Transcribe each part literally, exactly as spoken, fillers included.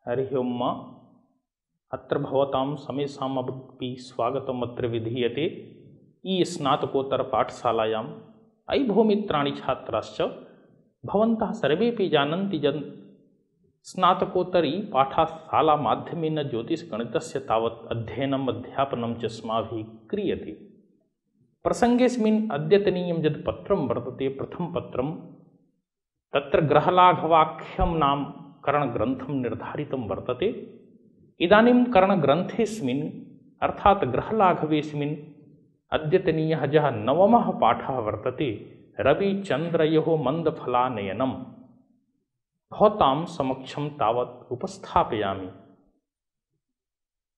हरिः ओम्। अत्र भवतां समेषामपि स्वागतम् अत्र विधीयते। ई स्नातकोत्तरपाठशालायाम् अयि भूमित्राणि छात्राश्च भवन्तः सर्वेपि जानन्ति यत् स्नातकोत्तरी पाठशालामाध्यमेन ज्योतिषगणितस्य तावत् अध्ययनम् अध्यापनं च अस्माभिः क्रियते। प्रसङ्गेऽस्मिन् अद्यतनीयं यत् पत्रं वर्तते प्रथमं पत्रं तत्र ग्रहलाघवाख्यं नाम करणग्रन्थं निर्धारितं वर्तते। इदानीं करणग्रन्थेऽस्मिन् अर्थात् ग्रहलाघवेऽस्मिन् अद्यतनीयः यः नवमः पाठः वर्तते रविचन्द्रयोः मन्दफलानयनं भवतां समक्षं तावत् उपस्थापयामि।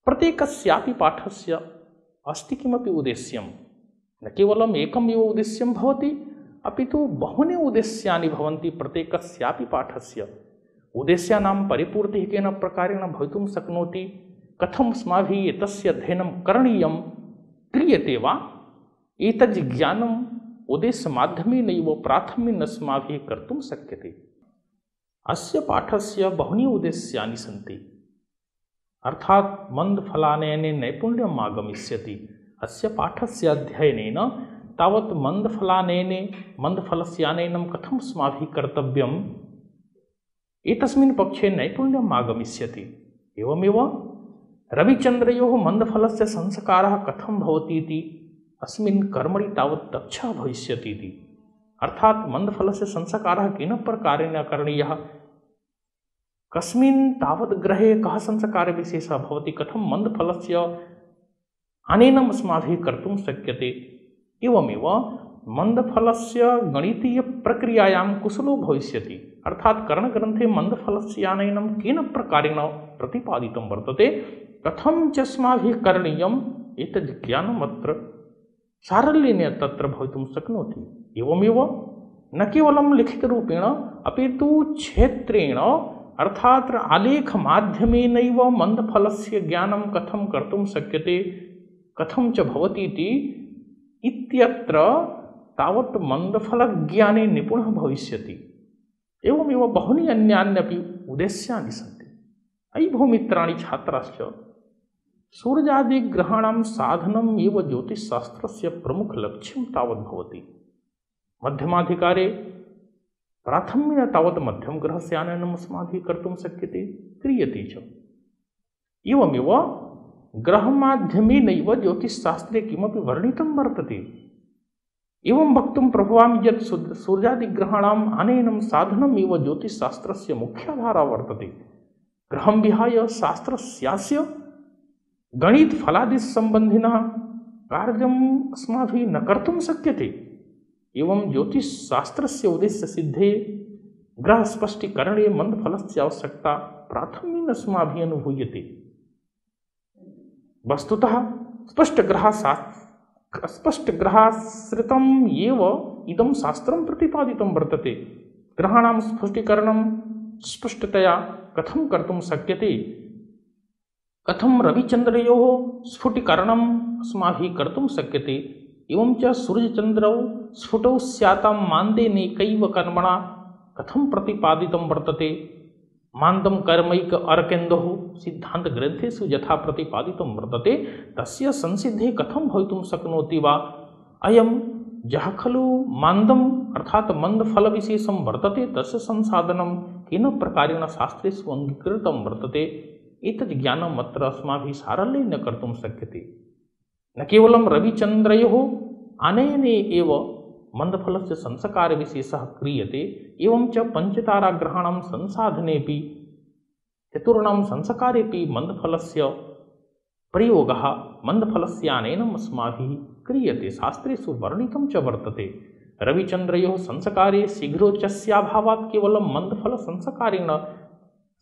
प्रत्येकस्यापि पाठस्य अस्ति किमपि उद्देश्यं, न केवलम् एकमेव उद्देश्यं भवति अपि तु बहूनि उद्देश्यानि भवन्ति। प्रत्येकस्यापि पाठस्य उद्देश्यानां परिपूर्तिः केन प्रकारेण भवितुं शक्नोति, कथम् अस्माभिः एतस्य अध्ययनं करणीयं क्रियते वा, एतत् ज्ञानम् उद्देश्यमाध्यमेनैव प्राथम्येन अस्माभिः कर्तुं शक्यते। अस्य पाठस्य बहूनि उद्देश्यानि सन्ति, अर्थात् मन्दफलानयने नैपुण्यम् आगमिष्यति। अस्य पाठस्य अध्ययनेन तावत् मन्दफलानयने मन्दफलस्य आनयनं कथम् अस्माभिः कर्तव्यम् एतस्मिन् पक्षे नैपुण्यम् आगमिष्यति। एवमेव रविचन्द्रयोः मन्दफलस्य संस्कारः कथं भवति इति अस्मिन् कर्मणि तावत् दक्षः भविष्यति इति। अर्थात् मन्दफलस्य संस्कारः केन प्रकारेण करणीयः, कस्मिन् तावत् ग्रहे कः संस्कारविशेषः भवति, कथं मन्दफलस्य आनयनम् अस्माभिः कर्तुं शक्यते। एवमेव मन्दफलस्य गणितीयप्रक्रियायां कुशलो भविष्यति। अर्थात् करणग्रन्थे मन्दफलस्य आनयनं केन प्रकारेण प्रतिपादितं वर्तते, कथं च अस्माभिः करणीयम् एतद् ज्ञानम् अत्र सारल्येन तत्र भवितुं शक्नोति। एवमेव न केवलं लिखितरूपेण अपि तु क्षेत्रेण अर्थात् आलेखमाध्यमेनैव मन्दफलस्य ज्ञानं कथं कर्तुं शक्यते, कथं च भवति इति इत्यत्र तावत् मन्दफलज्ञाने निपुणः भविष्यति। एवमेव बहूनि अन्यान्यपि उद्देश्यानि सन्ति। अयि भूमित्राणि छात्राश्च, सूर्यादिग्रहाणां साधनम् एव ज्योतिषशास्त्रस्य प्रमुखलक्ष्यं तावत् भवति। मध्यमाधिकारे प्राथम्येन तावत् मध्यमग्रहस्य आनयनम् अस्माभिः कर्तुं शक्यते, क्रियते च। एवमेव ग्रहमाध्यमेनैव ज्योतिषशास्त्रे किमपि वर्णितं वर्तते। एवं वक्तुं प्रभवामि यत् सूर्यादिग्रहाणाम् आनयनं साधनम् एव ज्योतिषशास्त्रस्य मुख्याधारा वर्तते। ग्रहं विहाय शास्त्रस्यास्य गणितफलादिसम्बन्धिनः कार्यम् अस्माभिः न कर्तुं शक्यते। एवं ज्योतिषशास्त्रस्य उद्देश्यसिद्धे ग्रहस्पष्टीकरणे मन्दफलस्य आवश्यकता प्राथम्येन अस्माभिः अनुभूयते। वस्तुतः स्पष्टग्रहशास्त्र स्पष्टग्रहाश्रितम् एव इदं शास्त्रं प्रतिपादितं वर्तते। ग्रहाणां स्फुटीकरणं स्पष्टतया कथं कर्तुं शक्यते, कथं रविचन्द्रयोः स्फुटीकरणम् अस्माभिः कर्तुं शक्यते, एवं च सूर्यचन्द्रौ स्फुटौ स्यातां मान्देनैकैव कर्मणा कथं प्रतिपादितं वर्तते। मान्दं कर्मैक अरकेन्दुः सिद्धान्तग्रन्थेषु यथा प्रतिपादितं वर्तते, तस्य संसिद्धिः कथं भवितुं शक्नोति वा। अयं यः खलु मान्दम् अर्थात् मन्दफलविशेषं वर्तते, तस्य संसाधनं केन प्रकारेण शास्त्रेषु अङ्गीकृतं वर्तते, एतत् ज्ञानम् अत्र अस्माभिः सारल्येन कर्तुं शक्यते। न केवलं रविचन्द्रयोः आनयने एव मन्दफलस्य संस्कारविशेषः क्रियते, एवं च पञ्चताराग्रहाणां संसाधनेऽपि चतुर्णां संस्कारेऽपि मन्दफलस्य प्रयोगः मन्दफलस्य आनयनम् अस्माभिः क्रियते, शास्त्रेषु वर्णितं च वर्तते। रविचन्द्रयोः संस्कारे शीघ्रोच्चस्याभावात् केवलं मन्दफलसंस्कारेण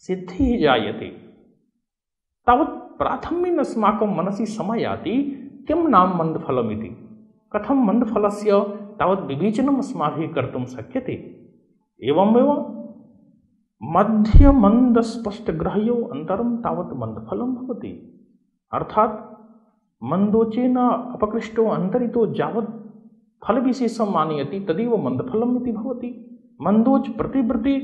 सिद्धिः जायते। तावत् प्राथम्येन अस्माकं मनसि समयाति किं नाम मन्दफलमिति, कथं मन्दफलस्य तावत् विवेचनम् अस्माभिः कर्तुं शक्यते। एवमेव मध्यमन्दस्पष्टग्रहयोः अन्तरं तावत् मन्दफलं भवति। अर्थात् मन्दोचेन अपकृष्टो अन्तरितो यावत् फलविशेषम् आनयति तदेव मन्दफलम् इति भवति। मन्दोच प्रतिवृत्ति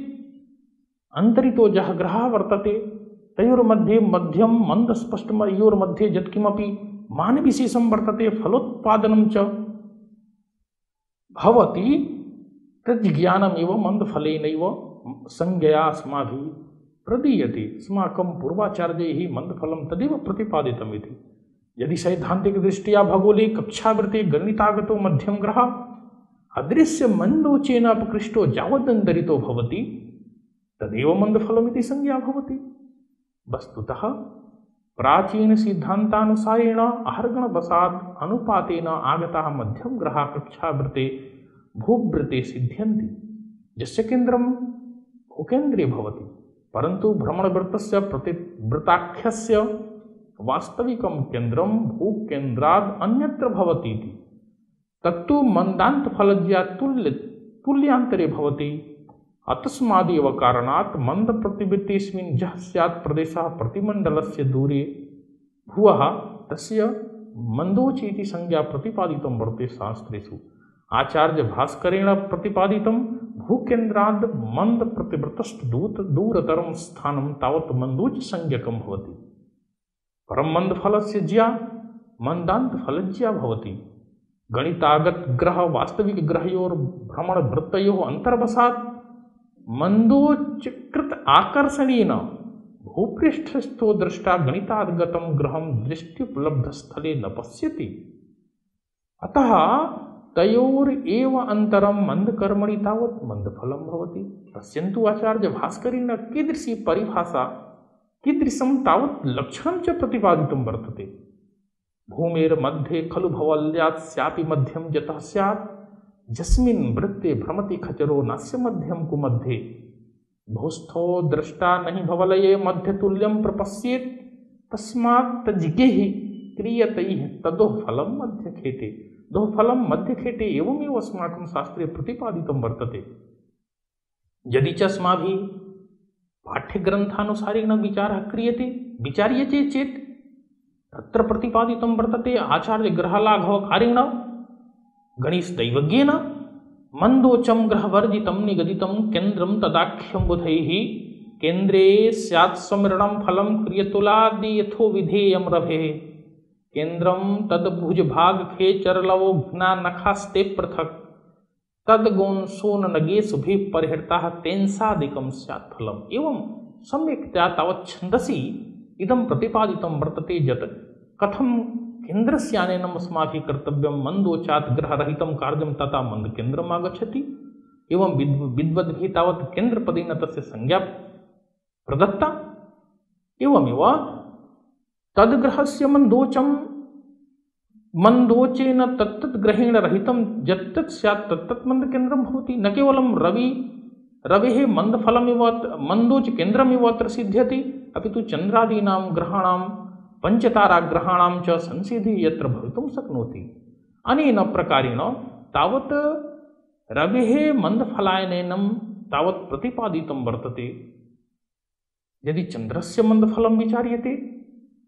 अंतरितो जः ग्रहः वर्तते तयोर्मध्ये मध्यम मन्दस्पष्टमयोर्मध्ये यत्किमपि मानविशेषं वर्तते फलोत्पादनं च भवति तज्ज्ञानमेव मन्दफलेनैव संज्ञया अस्माभिः प्रदीयते। अस्माकं पूर्वाचार्यैः मन्दफलं तदेव प्रतिपादितम् इति। यदि सैद्धान्तिकदृष्ट्या भगोले कक्षावृते गणितागतो मध्यम ग्रहः अदृश्य मन्दोचेन अपकृष्टो यावदन्तरितो भवति तदेव मन्दफलमिति संज्ञा भवति। वस्तुतः प्राचीन सिद्धान्तानुसारेण आहर्गणवशात् अनुपातेन आगताः मध्यम ग्रहाः कक्षावृते भूवृते सिद्ध्यन्ति, यस्य केन्द्रं भूकेन्द्रे भवति, परन्तु भ्रमणवृत्तस्य प्रतिवृत्ताख्यस्य वास्तविकं केन्द्रं भूकेन्द्राद् अन्यत्र भवति इति। तत्तु मन्दान्तफलज्या तुल्य तुल्यांतरे भवति। अतस्मादेव कारणात् मन्दप्रतिवृत्तेऽस्मिन् यः स्यात् प्रदेशः प्रतिमण्डलस्य दूरे भुवः तस्य मन्दोचि इति संज्ञा प्रतिपादितं वर्तते शास्त्रेषु। आचार्य भास्करेण प्रतिपादितं भूकेन्द्राद् मन्दप्रतिवृत्तश्च दूरतरं स्थानं तावत् मन्दोचि संज्ञकं भवति। परं मन्दफलस्य ज्या मन्दान्तफलज्या भवति। गणितागत ग्रह वास्तविक ग्रहयोर भ्रमणवृत्तयोः अन्तर्वशात् मन्दोचकृत आकर्षणेन भूपृष्ठस्थो दृष्टा गणितागतं ग्रहं दृष्ट्युपलब्धस्थले न पश्यति। अतः तयोरेव अन्तरं मन्दकर्मणि तावत् मन्दफलं भवति। पश्यन्तु आचार्य भास्करेण कीदृशी परिभाषा कीदृशं तावत् लक्षणं च प्रतिपादितं वर्तते। भूमेर्मध्ये खलु भवल्यात् स्यापि मध्यम यतः स्यात् यस्मिन् वृत्ते भ्रमति खचरो नास्य मध्यम कुमध्ये भूस्थो दृष्टा नहीं भवलये मध्यतुल्यं प्रपश्येत् तस्मात् तज्ज्ञैः क्रियतैः तदोः फलं मध्यखेटे। दोः फलं मध्यखेटे एवमेव अस्माकं शास्त्रे प्रतिपादितं वर्तते। यदि च अस्माभिः पाठ्यग्रन्थानुसारेण विचारः क्रियते विचार्यते चेत् तत्र प्रतिपादितं वर्तते आचार्यग्रहलाघवकारेण गणेशदैवज्ञेन मन्दोचं ग्रहवर्जितं निगदितं केन्द्रं तदाख्यं बुधैः केन्द्रे स्यात् स्मरणं फलं क्रियतुलादि यथो विधेयं रभेः केन्द्रं तद्भुजभागखे चरलवो घ्नानखास्ते पृथक् तद्गोंसोननगेषुभिः परिहृताः तेंसादिकं स्यात् फलम्। एवं सम्यक्तया तावत् छन्दसि इदं प्रतिपादितं वर्तते यत् कथं केन्द्रस्यानेनम् अस्माभिः कर्तव्यं मन्दोचात् ग्रहरहितं कार्यं तथा मन्दकेन्द्रम् आगच्छति। एवं विद् विद्वद्भिः तावत् केन्द्रपदेन तस्य संज्ञा प्रदत्ता। एवमेव तद्ग्रहस्य मन्दोचं मन्दोचेन तत्तत् ग्रहेण रहितं यत्तत् स्यात् तत्तत् मन्दकेन्द्रं भवति। न केवलं रवि रवेः मन्दफलमिव मन्दोच केन्द्रमिव अत्र सिद्ध्यति अपितु चन्द्रादीनां ग्रहाणां पञ्चताराग्रहाणां च संसिद्धिः यत्र भवितुं शक्नोति। अनेन प्रकारेण तावत् रवेः मन्दफलायनेनं तावत् प्रतिपादितं वर्तते। यदि चन्द्रस्य मन्दफलं विचार्यते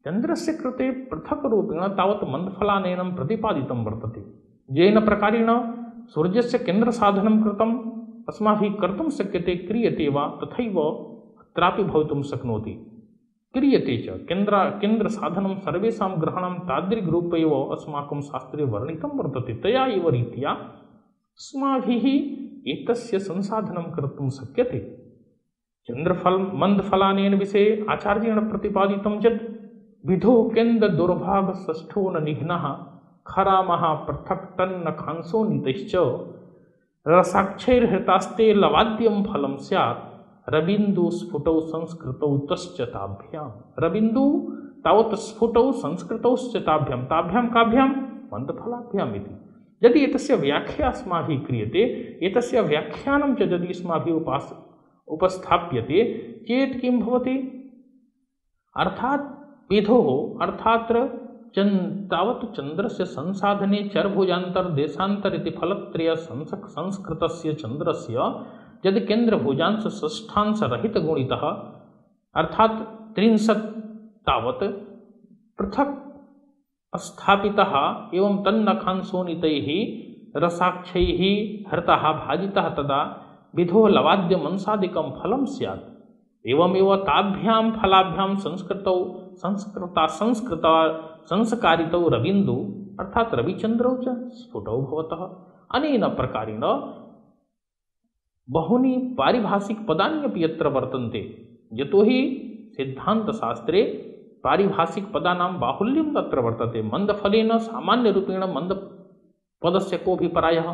चन्द्रस्य कृते पृथक् रूपेण तावत् मन्दफलानयनं प्रतिपादितं वर्तते। येन प्रकारेण सूर्यस्य केन्द्रसाधनं कृतम् अस्माभिः कर्तुं शक्यते क्रियते वा तथैव अत्रापि भवितुं शक्नोति। क्रियते च केन्द्र केन्द्रसाधनं सर्वेषां ग्रहाणां तादृग्रूप एव अस्माकं शास्त्रे वर्णितं वर्तते। तया एव रीत्या अस्माभिः एतस्य संसाधनं कर्तुं शक्यते। चन्द्रफल मन्दफलानेन विषये आचार्येण प्रतिपादितं यत् विधो केन्द्र दुर्भाग षष्ठो न निघ्नः खरामः पृथक् तन्न खांसो नीतैश्च रसाक्षैर्हृतास्ते लवाद्यं फलं स्यात् रविन्दु स्फुटौ संस्कृतौ तश्च ताभ्यां। रविन्दु तावत् स्फुटौ संस्कृतौश्च ताभ्यां ताभ्यां काभ्यां मन्दफलाभ्याम् इति। यदि एतस्य व्याख्या अस्माभिः क्रियते एतस्य व्याख्यानं च यदि अस्माभिः उपास उपस्थाप्यते चेत् किं भवति अर्थात् विधोः अर्थात् चन् तावत् चन्द्रस्य संसाधने चरभुजान्तर देशान्तर इति फलत्रय संस्कृतस्य चन्द्रस्य यदि केन्द्रभुजांश षष्ठांश रहित गुणितः अर्थात् त्रिंशत् तावत् पृथक् स्थापितः एवं तन्नखांसोनितैः रसाक्षैः हृतः भाजितः तदा विधो लवाद्यमंसादिकं फलं स्यात्। एवमेव ताभ्यां फलाभ्यां संस्कृतौ संस्कृता संस्कृता संस्कारितौ रविन्दु अर्थात रविचंद्रौ च स्फुटौ भवतः। अनेन प्रकारेण बहूनि पारिभाषिकपदानि अपि यत्र वर्तन्ते, यतोहि सिद्धान्तशास्त्रे पारिभाषिकपदानां बाहुल्यं तत्र वर्तते। मन्दफलेन सामान्यरूपेण मन्दपदस्य कोऽपि प्रायः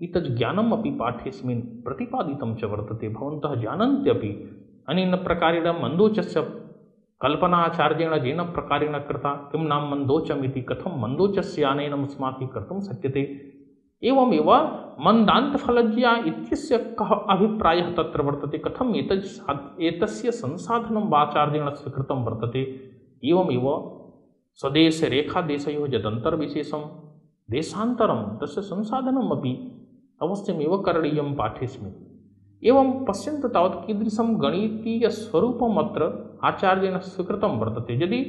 इतः ज्ञानम् अपि पाठ्येऽस्मिन् प्रतिपादितं च वर्तते। भवन्तः जानन्त्यपि अनेन प्रकारेण मन्दोचस्य कल्पनाचार्येण येन प्रकारेण कृता। किं नाम मन्दोचम् इति, कथं मन्दोचस्य आनयनम् अस्माभिः कर्तुं शक्यते। एवमेव मन्दान्तफलज्ञा इत्यस्य कः अभिप्रायः तत्र वर्तते, कथम् एतत् एतस्य संसाधनं वाचार्येण स्वीकृतं वर्तते। एवमेव स्वदेशरेखादेशयोः यदन्तर्विशेषं देशान्तरं तस्य संसाधनम् अपि अवश्यमेव करणीयं पाठेऽस्मिन्। एवं पश्यन्तु तावत् कीदृशं गणितीयस्वरूपम् अत्र आचार्येण स्वीकृतं वर्तते। यदि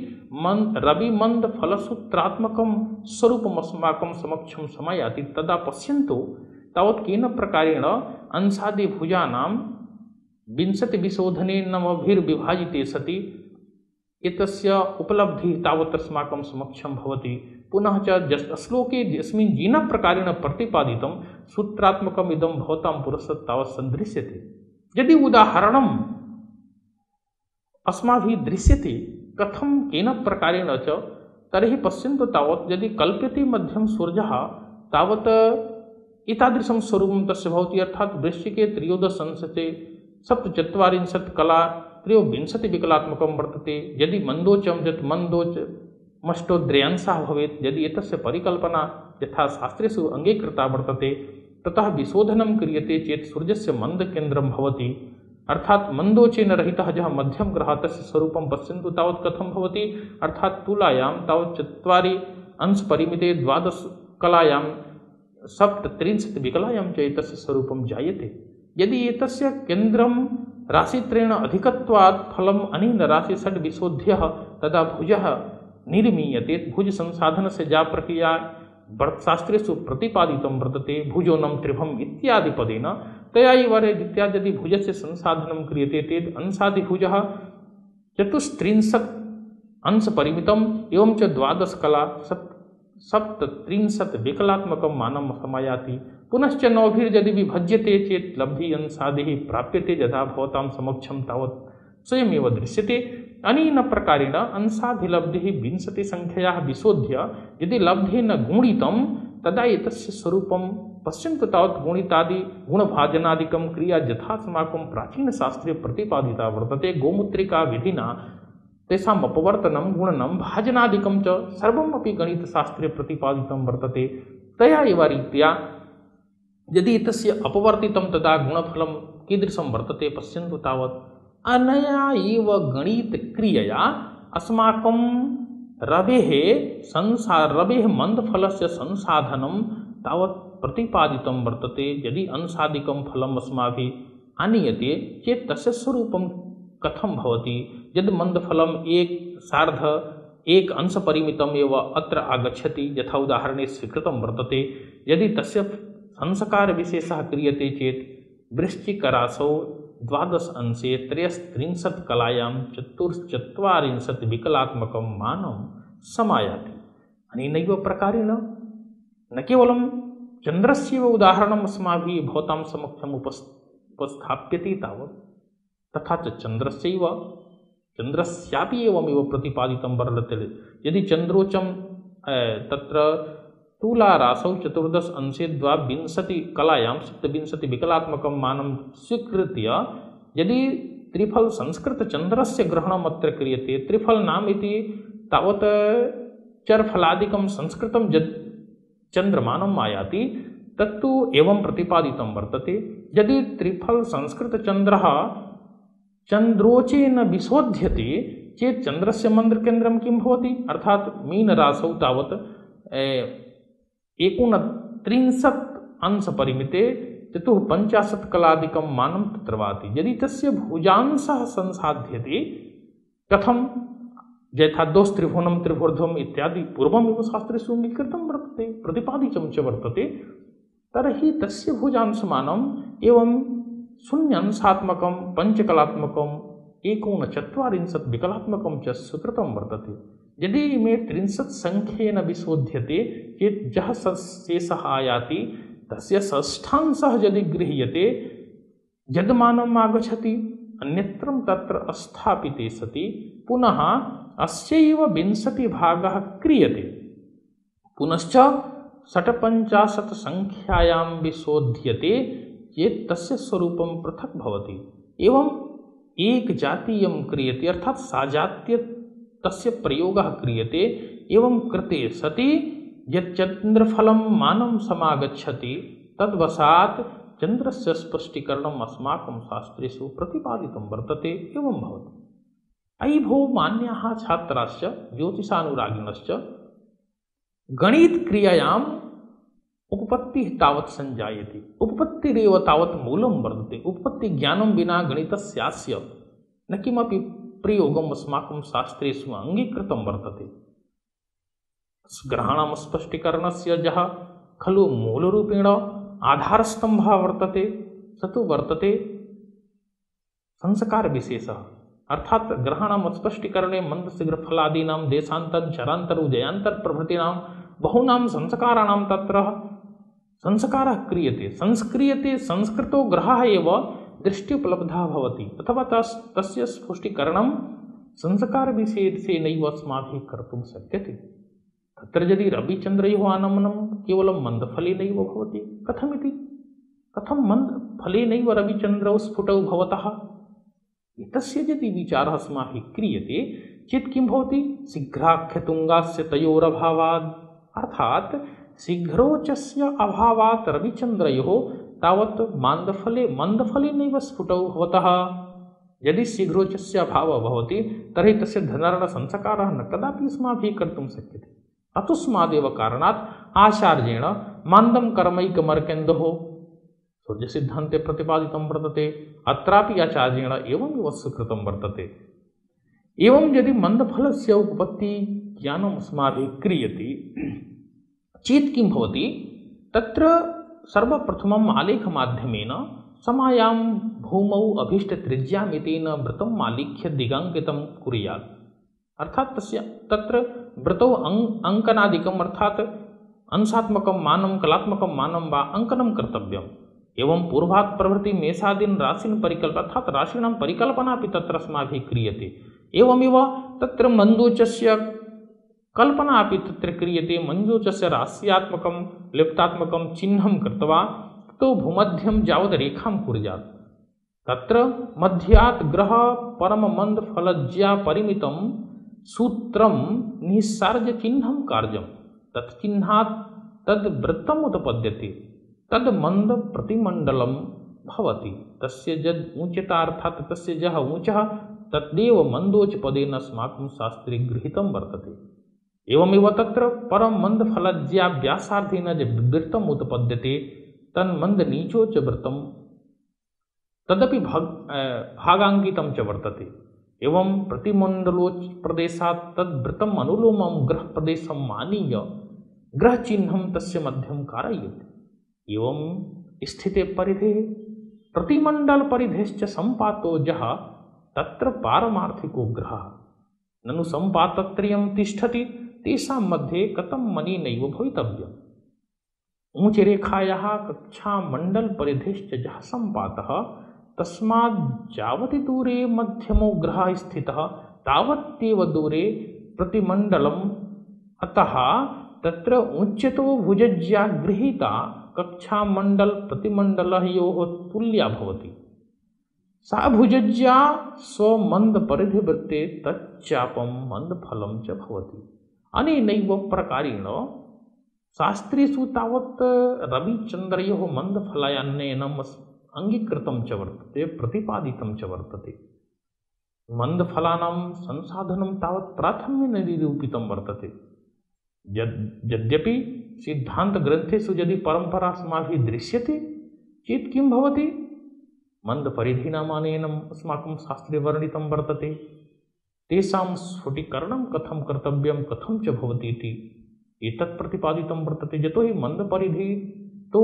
मन रविमन्दफलसूत्रात्मकं स्वरूपम् अस्माकं समक्षं समायाति तदा पश्यन्तु तावत् केन प्रकारेण अंशादिभुजानां विंशतिविशोधने नवभिर्विभाजिते सति एतस्य उपलब्धिः तावत् अस्माकं समक्षं भवति। पुनः च श्लोके यस्मिन् येन प्रकारेण प्रतिपादितं सूत्रात्मकम् इदं भवतां पुरस्तात् तावत् सन्दृश्यते। यदि उदाहरणम् अस्माभिः दृश्यते कथं केन प्रकारेण च, तर्हि पश्यन्तु तावत् यदि कल्प्यते मध्यं सूर्यः तावत् एतादृशं स्वरूपं तस्य भवति। अर्थात् वृश्चिके त्रयोदश अंशते सप्तचत्वारिंशत् कला त्रयोविंशतिविकलात्मकं वर्तते। यदि मन्दोचं यत् मन्दोच मष्टोद्रयांशः भवेत्, यदि एतस्य परिकल्पना यथा शास्त्रेषु अङ्गीकृता वर्तते, ततः विशोधनं क्रियते चेत् सूर्यस्य मन्दकेन्द्रं भवति। अर्थात् मन्दोचेन रहितः यः मध्यम ग्रहः तस्य स्वरूपं पश्यन्तु तावत् कथं भवति। अर्थात् तुलायां तावत् चत्वारि अंशपरिमिते द्वादश कलायां सप्तत्रिंशत् विकलायां च एतस्य स्वरूपं जायते। यदि एतस्य केन्द्रं राशित्रेण अधिकत्वात् फलम् अनेन राशि षड् विशोध्यः तदा भुजः निर्मीयते। भुज संसाधनस्य या प्रक्रिया शास्त्रेषु प्रतिपादितं वर्तते, भुजोनं त्रिभम् इत्यादि पदेन तया एव इत्यादि यदि भुजस्य संसाधनं क्रियते चेत् अंशादिभुजः चतुस्त्रिंशत् अंशपरिमितम् एवं च द्वादश कला सप्त सप्तत्रिंशत् विकलात्मकं मानं समायाति। पुनश्च नवभिर्यदि विभज्यते चेत् लब्धि अंशादिः प्राप्यते, यथा भवतां समक्षं तावत् स्वयमेव दृश्यते। अनेन प्रकारेण अंशाधिलब्धिः विंशतिसङ्ख्यायाः विशोध्य यदि लब्धेन गुणितं तदा एतस्य स्वरूपं पश्यन्तु तावत् गुणितादि गुणभाजनादिकं क्रिया यथा अस्माकं प्राचीनशास्त्रे प्रतिपादिता वर्तते। गोमूत्रिका विधिना तेषाम् अपवर्तनं गुणनं भाजनादिकं च सर्वमपि गणितशास्त्रे प्रतिपादितं वर्तते। तया एव रीत्या यदि एतस्य अपवर्तितं तदा गुणफलं कीदृशं वर्तते पश्यन्तु तावत्। अनया एव गणितक्रियया अस्माकं रवेः संसा रवेः मन्दफलस्य संसाधनं तावत् प्रतिपादितं वर्तते। यदि अंशादिकं फलम् अस्माभिः आनीयते चेत् तस्य स्वरूपं कथं भवति। यद् मन्दफलम् एक सार्ध एक अंशपरिमितम् एव अत्र आगच्छति, यथा उदाहरणे स्वीकृतं वर्तते। यदि तस्य संस्कारविशेषः क्रियते चेत् वृश्चिकराशौ द्वादश अंशे त्रयस्त्रिंशत् कलायां चतुश्चत्वारिंशत् विकलात्मकं मानं समायाति। अनेनैव प्रकारेण न केवलं चन्द्रस्यैव उदाहरणम् अस्माभिः भवतां समक्षम् उपस्थाप्यते तावत्, तथा च चन्द्रस्यैव चन्द्रस्यापि एवमेव प्रतिपादितं वर्तते। यदि चन्द्रोचं तत्र तुलाराशौ चतुर्दश अंशे द्वाविंशति कलायां सप्तविंशति विकलात्मकं मानं स्वीकृत्य यदि त्रिफल संस्कृतचन्द्रस्य ग्रहणम् अत्र क्रियते, त्रिफल नाम इति तावत् चरफलादिकं संस्कृतं यत् चन्द्रमानम् आयाति तत्तु एवं प्रतिपादितं वर्तते। यदि त्रिफल संस्कृतचन्द्रः चन्द्रोचेन विशोध्यते चेत् चन्द्रस्य मन्दकेन्द्रं किं भवति। अर्थात् मीनराशौ तावत् एकोनत्रिंशत् अंशपरिमिते चतुःपञ्चाशत् कलादिकं मानं तत्र भाति। यदि तस्य भुजांशः संसाध्यते कथं, यथा दोस्त्रिभुवनं त्रिभुर्ध्वम् इत्यादि पूर्वमेव शास्त्रेषु अङ्गीकृतं वर्तते, प्रतिपादितं च वर्तते, तर्हि तस्य भुजांशमानम् एवं शून्यांशात्मकं पञ्चकलात्मकं एकोनचत्वारिंशत् विकलात्मकं च सुकृतं वर्तते। यदि इमे त्रिंशत् संख्येन विशोध्यते चेत् यः शेषः आयाति तस्य षष्ठांशः यदि गृह्यते यद्मानम् आगच्छति अन्यत्रं तत्र स्थापिते सति पुनः अस्यैव विंशतिभागः क्रियते। पुनश्च षट्पञ्चाशत् संख्यायां विशोध्यते चेत् तस्य स्वरूपं पृथक् भवति। एवं एक जातीयं क्रियते अर्थात् साजात्य तस्य प्रयोगः क्रियते। एवं कृते सति यत् चन्द्रफलं मानं समागच्छति तद्वशात् चन्द्रस्य स्पष्टीकरणम् अस्माकं शास्त्रेषु प्रतिपादितं वर्तते। एवं भवति। अयि भो मान्याः छात्राश्च ज्योतिषानुरागिणश्च गणितक्रियायाम् उपपत्तिः तावत् सञ्जायते। उपपत्तिरेव तावत् मूलं वर्तते। उपपत्तिज्ञानं विना गणितस्यास्य न किमपि प्रयोगम् अस्माकं शास्त्रेषु अङ्गीकृतं वर्तते। ग्रहाणां स्पष्टीकरणस्य यः खलु मूलरूपेण आधारस्तम्भः वर्तते स तु वर्तते संस्कारविशेषः। अर्थात् ग्रहाणां स्पष्टीकरणे मन्दशीघ्रफलादीनां देशान्तर चरान्तर उदयान्तर प्रभृतीनां बहूनां संस्काराणां तत्र संस्कारः क्रियते संस्क्रियते। संस्कृतो ग्रहः एव दृष्ट्युपलब्धः भवति अथवा तस् तस्य स्पष्टीकरणं संस्कारविशेषेणैव अस्माभिः कर्तुं शक्यते। तत्र यदि रविचन्द्रयोः आनमनं केवलं मन्दफलेनैव भवति कथमिति? कथं मन्दफलेनैव रविचन्द्रौ स्फुटौ भवतः? एतस्य यदि विचारः अस्माभिः क्रियते चेत् किं भवति? शीघ्राख्यतुङ्गास्य तयोरभावात् अर्थात् शीघ्रोचस्य अभावात् रविचन्द्रयोः तावत् मान्दफले मन्दफलेनैव स्फुटौ भवतः। यदि शीघ्रोचस्य अभावः भवति तर्हि तस्य धनार्णसंस्कारः न कदापि अस्माभिः कर्तुं शक्यते। अतस्मादेव कारणात् आचार्येण मान्दं कर्मैकमर्केन्दोः सूर्यसिद्धान्ते प्रतिपादितं वर्तते। अत्रापि आचार्येण एवमेव स्वीकृतं वर्तते। एवं यदि मन्दफलस्य उपपत्ति ज्ञानम् अस्माभिः क्रियते चेत् किं भवति? तत्र सर्वप्रथमम् आलेखमाध्यमेन समायां भूमौ अभीष्टत्रिज्यामितेन वृत्तम् आलिख्य दिगाङ्कितं कुर्यात्। अर्थात् तस्य तत्र वृतौ अङ् अङ्कनादिकम् अर्थात् अंशात्मकं मानं कलात्मकं मानं वा अङ्कनं कर्तव्यम्। एवं पूर्वात् प्रभृति मेषादीन् राशीन् परिकल्प अर्थात् राशीणां परिकल्पना अपि तत्र अस्माभिः क्रियते। एवमेव तत्र मन्दोचस्य कल्पना अपि तत्र क्रियते। मन्दोचस्य राश्यात्मकं लिप्तात्मकं चिह्नं कृत्वा ततो भूमध्यं यावद् रेखां कुर्यात्। तत्र मध्यात् ग्रह परममन्दफलज्या परिमितं सूत्रं निस्सार्य चिह्नं कार्यं तत्चिह्नात् तद् वृत्तम् उत्पद्यते। तद् मन्द प्रतिमण्डलं भवति। तस्य यद् ऊच्यता अर्थात् तस्य यः ऊचः तद्देव मन्दोचपदेन अस्माकं शास्त्रे गृहीतं वर्तते। एवमेव तत्र परम मन्दफलज्या व्यासार्थेन यद् वृत्तम् उत्पद्यते तन्मन्दनीचोच वृत्तं तदपि भाग भागाङ्कितं च वर्तते। एवं प्रतिमण्डलोच प्रदेशात् तद्वृत्तम् अनुलोमं ग्रहप्रदेशं मानीय ग्रहचिह्नं तस्य मध्यं कारयेत्। एवं स्थिते परिधेः प्रतिमण्डलपरिधेश्च सम्पातो यः तत्र पारमार्थिको ग्रहः ननु सम्पातत्रयं तिष्ठति तेषां मध्ये कथं मणिनैव भवितव्यम्। ऊचरेखायाः कक्षामण्डलपरिधेश्च यः सम्पातः तस्मात् यावति दूरे मध्यमो ग्रहः स्थितः तावत्येव दूरे प्रतिमण्डलम्। अतः तत्र उच्यतो भुजज्या गृहीता कक्षामण्डल प्रतिमण्डलयोः तुल्या भवति। सा भुजज्या स्वमन्दपरिधिवृत्ते तच्चापं मन्दफलं च भवति। अनेनैव प्रकारेण शास्त्रेषु तावत् रविचन्द्रयोः मन्दफलायान्नयनम् अङ्गीकृतं च वर्तते प्रतिपादितं च वर्तते। मन्दफलानां संसाधनं तावत् प्राथम्येन निरूपितं वर्तते। यद् यद्यपि सिद्धान्तग्रन्थेषु यदि परम्परा अस्माभिः दृश्यते चेत् किं भवति? मन्दपरिधीनामानेनम् अस्माकं शास्त्रे वर्णितं वर्तते। तेषां स्फुटीकरणं कथं कर्तव्यं कथं च भवति इति एतत् प्रतिपादितं वर्तते। यतो हि मन्दपरिधि तो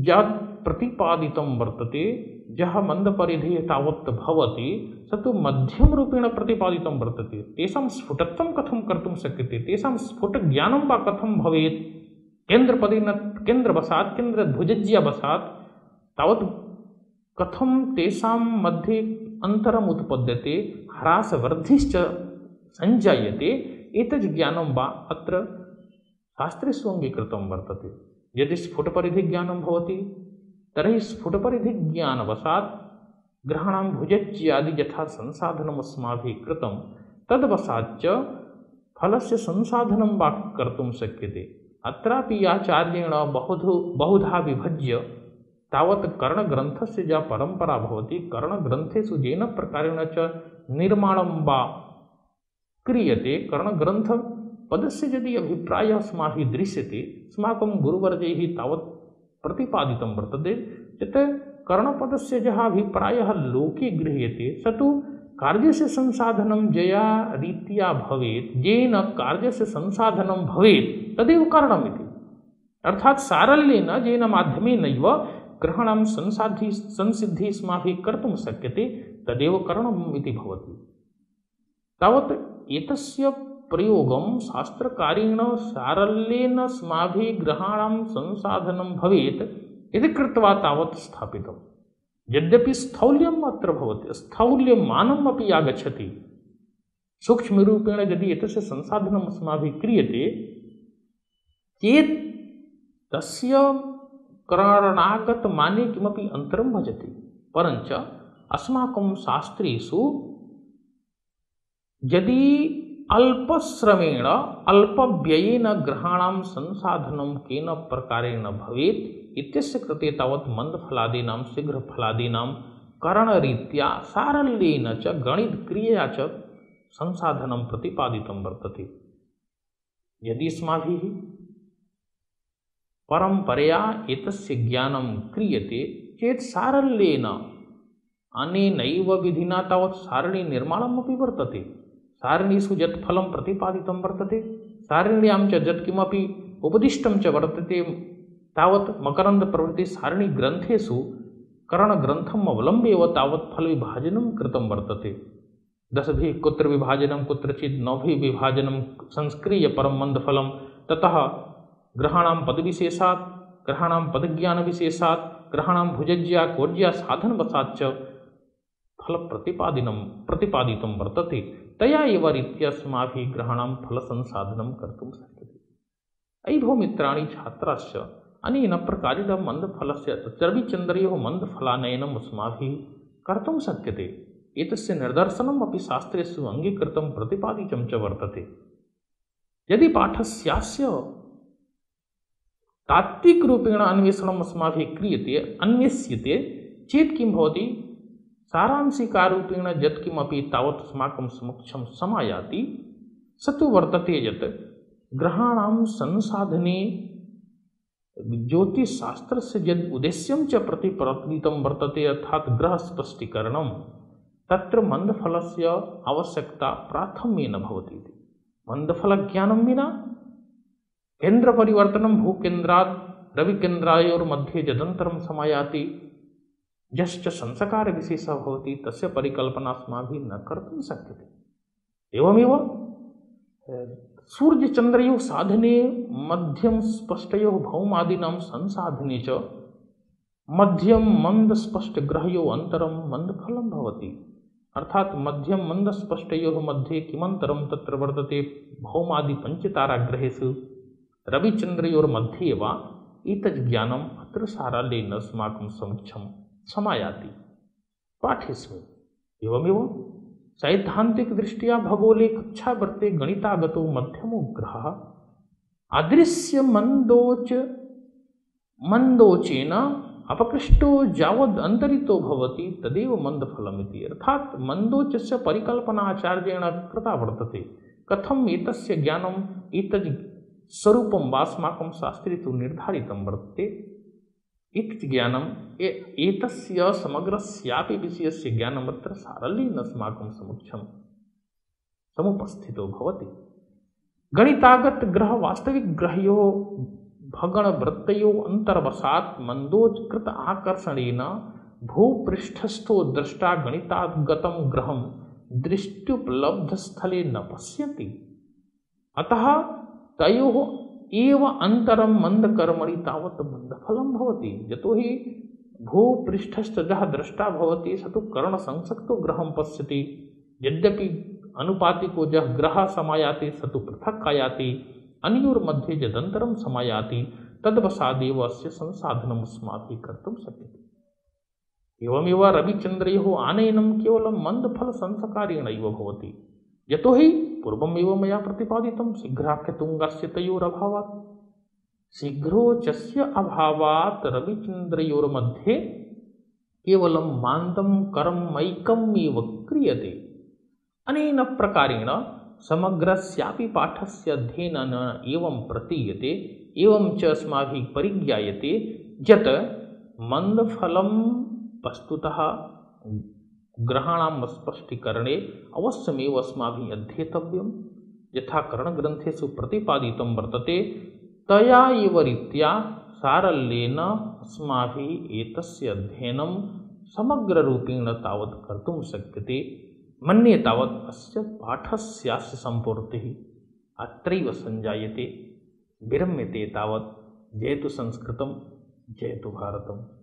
यत् प्रतिपादितं वर्तते यः मन्दपरिधिः तावत् भवति स तु मध्यमरूपेण प्रतिपादितं वर्तते। तेषां स्फुटत्वं कथं कर्तुं शक्यते, तेषां स्फुटज्ञानं वा कथं भवेत्, केन्द्रपदेन केन्द्रवशात् केन्द्रध्वजज्यवशात् तावत् कथं तेषां मध्ये अन्तरम् उत्पद्यते, ह्रासवर्धिश्च सञ्जायते, एतत् ज्ञानं वा अत्र शास्त्रेषु अङ्गीकृतं वर्तते। यदि स्फुटपरिधिज्ञानं भवति तर्हि स्फुटपरिधिज्ञानवशात् ग्रहाणां भुजज्यादि यथा संसाधनम् अस्माभिः कृतं तद्वशाच्च फलस्य संसाधनं वा कर्तुं शक्यते। अत्रापि आचार्येण बहुधु बहुधा विभज्य तावत् कर्णग्रन्थस्य या परम्परा भवति, कर्णग्रन्थेषु येन प्रकारेण च निर्माणं वा क्रियते, कर्णग्रन्थपदस्य यदि अभिप्रायः अस्माभिः दृश्यते, अस्माकं गुरुवर्यैः तावत् प्रतिपादितं वर्तते यत् कर्णपदस्य यः अभिप्रायः लोके गृह्यते स तु कार्यस्य संसाधनं यया रीत्या भवेत्, येन कार्यस्य संसाधनं भवेत् तदेव कर्णमिति। अर्थात् सारल्येन येन माध्यमेनैव ग्रहाणां संसाधि संसिद्धिः अस्माभिः कर्तुं शक्यते तदेव कर्णम् इति भवति। तावत् एतस्य प्रयोगं शास्त्रकारेण सारल्येन अस्माभिः ग्रहाणां संसाधनं भवेत् इति कृत्वा तावत् स्थापितं। यद्यपि स्थौल्यम् अत्र भवति, स्थौल्यमानम् अपि आगच्छति, सूक्ष्मरूपेण यदि एतस्य संसाधनम् अस्माभिः क्रियते चेत् तस्य करणागतमाने किमपि अन्तरं भजते। परञ्च अस्माकं शास्त्रेषु यदि अल्पश्रमेण अल्पव्ययेन ग्रहाणां संसाधनं केन प्रकारेण भवेत् इत्यस्य कृते तावत् मन्दफलादीनां शीघ्रफलादीनां करणरीत्या सारल्येन च गणितक्रियया च संसाधनं प्रतिपादितं वर्तते। यदि अस्माभिः परम्परया एतस्य ज्ञानं क्रियते चेत् सारल्येन अनेनैव विधिना तावत् सारणीनिर्माणमपि वर्तते। सारणीषु यत् फलं प्रतिपादितं वर्तते, सारिण्यां च यत् किमपि उपदिष्टं च वर्तते, तावत् मकरन्दप्रभृति सारणीग्रन्थेषु करणग्रन्थम् अवलम्ब्य एव तावत् फलविभाजनं कृतं वर्तते। दशभिः कुत्र विभाजनं, कुत्रचित् नवभिः विभाजनं संस्क्रिय परं मन्दफलं, ततः ग्रहाणां पदविशेषात्, ग्रहाणां पदज्ञानविशेषात्, ग्रहाणां भुजज्या कोज्या साधनवशाच्च फलप्रतिपादिनं प्रतिपादितं वर्तते। तया एव रीत्या अस्माभिः ग्रहाणां फलसंसाधनं कर्तुं शक्यते। अयि भो मित्राणि छात्राश्च, अनेन प्रकारेण मन्दफलस्य रविचन्द्रयोः मन्दफलानयनम् अस्माभिः कर्तुं शक्यते। एतस्य निदर्शनम् अपि शास्त्रेषु अङ्गीकृतं प्रतिपादितं च वर्तते। यदि पाठस्यास्य तात्विकरूपेण अन्वेषणम् अस्माभिः क्रियते, अन्वेष्यते चेत् किं भवति, सारांशिकारूपेण यत्किमपि तावत् अस्माकं समक्षं समायाति स तु वर्तते यत् ग्रहाणां संसाधने ज्योतिषशास्त्रस्य यद् उद्देश्यं च प्रतिपादितं वर्तते, अर्थात् ग्रहस्पष्टीकरणं, तत्र मन्दफलस्य आवश्यकता प्राथम्येन भवति। मन्दफलज्ञानं विना केन्द्रपरिवर्तनं भूकेन्द्रात् रविकेन्द्रायोर्मध्ये यदन्तरं समायाति, यश्च संस्कारविशेषः भवति तस्य परिकल्पना अस्माभिः न कर्तुं शक्यते। एवमेव सूर्यचन्द्रयोः साधने मध्यम स्पष्टयोः भौमादीनां संसाधने च मध्यम मन्दस्पष्टग्रहयोः अन्तरं मन्दफलं भवति। अर्थात् मध्यम मन्दस्पष्टयोः मध्ये किमन्तरं तत्र वर्तते, भौमादि पञ्चताराग्रहेषु रविचन्द्रयोर्मध्ये वा एतत् ज्ञानम् अत्र सारल्येन अस्माकं समक्षं समायाति पाठेस्मिन्। एवमेव सैद्धान्तिकदृष्ट्या भगोले कक्षा वर्ते गणितागतो मध्यमो ग्रहः अदृश्य मन्दोच मन्दोचेन अपकृष्टो यावद् अन्तरितो भवति तदेव मन्दफलमिति। अर्थात् मन्दोचस्य परिकल्पना आचार्येण कृता वर्तते। कथम् एतस्य ज्ञानम् एतद् स्वरूपं वा अस्माकं शास्त्रे तु निर्धारितं वर्तते। इति ज्ञानम् एतस्य समग्रस्यापि विषयस्य ज्ञानम् अत्र सारल्येन अस्माकं समक्षं समुपस्थितो भवति। गणितागत ग्रह वास्तविक ग्रहयोः भगणवृत्तयोः अन्तर्वशात् मन्दोचकृत आकर्षणेन भूपृष्ठस्थो द्रष्टा गणिताद्गतं ग्रहं दृष्ट्युपलब्धस्थले न पश्यति। अतः तयोः एव अन्तरं मन्दकर्मणि तावत् मन्दफलं भवति। यतोहि भूपृष्ठस्थ यः द्रष्टा भवति स तु करणसंसक्तो ग्रहं पश्यति। यद्यपि अनुपातिको यः ग्रहः समायाति स तु पृथक् आयाति। अनयोर्मध्ये यदन्तरं समायाति तद्वशादेव अस्य संसाधनम् अस्माभिः कर्तुं शक्यते। एवमेव रविचन्द्रयोः आनयनं केवलं मन्दफलसंस्कारेणैव भवति। यतोहि पूर्वमेव मया प्रतिपादितं शीघ्राख्यतुङ्गस्य तयोरभावात्। शीघ्रोचस्य अभावात् रविचन्द्रयोर्मध्ये केवलं मान्दं कर्मैकमेव क्रियते। अनेन प्रकारेण समग्रस्यापि पाठस्य अध्ययनेन एवं प्रतीयते, एवं च अस्माभिः परिज्ञायते यत् मन्दफलं वस्तुतः ग्रहाणां स्पष्टीकरणे अवश्यमेव अस्माभिः अध्येतव्यं। यथा करणग्रन्थेषु प्रतिपादितं वर्तते तया एव रीत्या सारल्येन अस्माभिः एतस्य अध्ययनं समग्ररूपेण तावत् कर्तुं शक्यते। मन्ये तावत् अस्य पाठस्यास्य सम्पूर्तिः अत्रैव सञ्जायते। विरम्यते तावत्। जयतु संस्कृतं, जयतु भारतम्।